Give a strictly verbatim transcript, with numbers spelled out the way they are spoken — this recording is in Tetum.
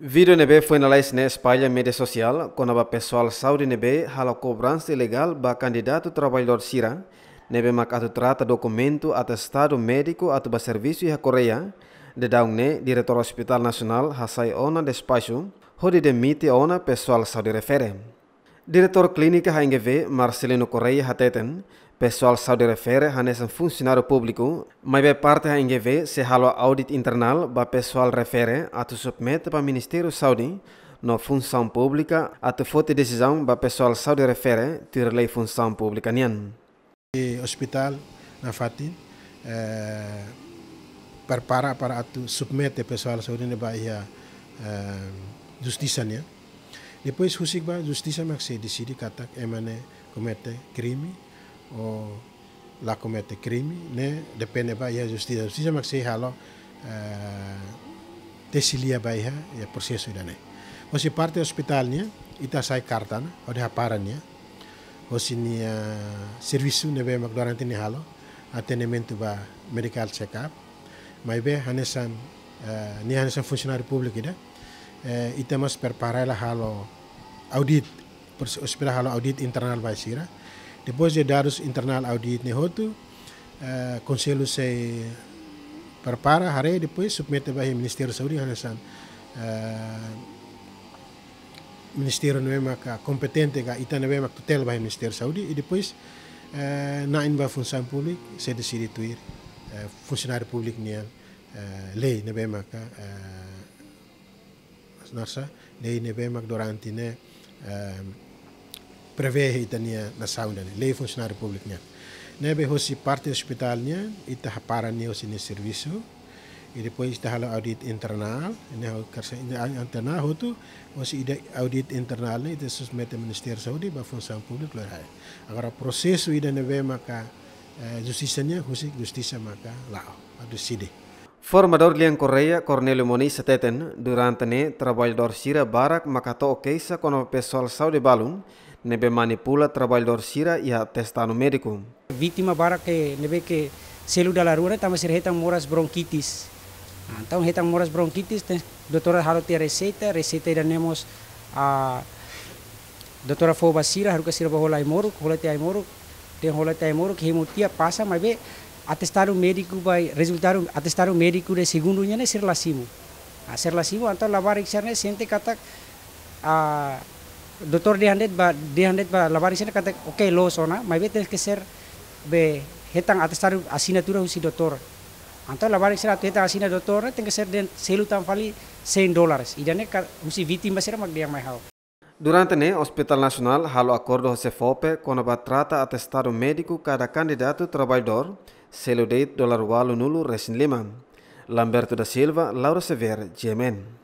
Vídeo ne'ebé foin lalais ne'e espalla media sosiál kona-ba pesoál saúde ne'ebé halo kobransa ilegál ba kandidatu traballadór sira ne'ebé mak atu trata dokumentu atestadu médiku atu ba servisu iha Koreia. Daudaun ne'e Diretór Hospital Nasionál hasai ona despaxu hodi demite ona pesoál saúde refere. Diretór Klínika H N G V, Marcelino Correia hateten, pesoál saúde refere hanesan funsionáriu públiku, maibé parte H N G V sei halo audit internál ba pesoál refere atu submete ba Ministériu Saúde no Funsaun Públika atu foti desizaun ba pesoál saúde refere tuir lei Funsaun Públika nian. Hospital nafatin, eh, prepara para atu submete pesoál saúde ne'e ba iha, eh, justisa nian. Depois husik ba justisa mak sei deside katak ema ne'e komete krime ou la komete krime, ne'e depende ba iha justisa. Justisa mak sei halo, eh, tesi lia ba iha, iha prosesu ida-ne'e. Hosi parte hospital nian, ita hasai karta ona, hodi hapara nia hosi nia servisu ne'ebé mak durante nia halo, atendimentu ba medical check-up. Maibé hanesan, eh, nia hanesan funsionáriu públiku ida, eh, ita mós prepara hela halo audit, pers-, espera halo audit internál ba sira. Depois de dadus internál audit ne'e hotu, eh, konsellu sei prepara, haree, depois submete ba iha Ministériu Saúde hanesan, eh, ministériu ne'ebé maka kompetente ka ita ne'ebé mak tutela ba iha Ministériu Saúde, i depois, eh, na'in ba Funsaun Públika sei deside tuir, eh, funsionáriu públiku nian, eh, lei ne'ebé maka, eh, nasa, lei ne'ebé mak durante ne'e, eh, prevee ita-nia nasaun ida-ne'e, lei funsionáriu públiku nian. Ne'ebé hosi parte hospital nian, ita hapara nia hosi nia servisu, i depois ita halo audit internál, ne'e ha'u karsa internál hotu, hosi ida audit internál ne'e ita submete Ministériu Saúde ba Funsaun Públika lori ha'u. Agora prosesu ida ne'ebé maka, eh, justisa nian, husik justisa maka la'o, atu deside. Formadór Lian Correia, Cornélio Moniz hateten, durante ne'e traballadór sira barak maka to'o keixa kona-ba pesoál saúde balun ne'ebé manipula traballadór sira iha atestadu médiku. Vítima barak ke ne'ebé ke selu dala rua ne'e tanba sira hetan moras bronkitis. Ah, entaun hetan moras bronkitis, te doutór halo tiha reseita, reseita ida-ne'e mós, ah, doutór fó ba sira, haruka sira bá hola ai-moruk, hola tiha ai-moruk, dehan hola tiha ai-moruk, hemu tiha pasa, maibé atestadu médiku ba, rezultadu atestadu médiku de segundu nian ne'e sira la simu. Ah, sira la simu, entaun labarik sira ne'e sente katak, ah, doutór dehan de'it ba, dehan de'it ba labarik sira katak, oke, loos ona, maibé tenke ser be hetan atestadu asinatura husi doutór. Entaun labarik sira atu hetan asina doutór ne'e tenke ser dehan selu tan fali cem dólares. Ida-ne'e ka husi vítima sira mak dehan mai ha'u. Durante ne'e, Hospital Nasionál halo akordu ho SEFOPE kona-ba trata atestadu médiku kada kandidatu traballadór, selu de'it dolar ualunulu resin lima. Lamberto da Silva, Laura Xavier, G M N.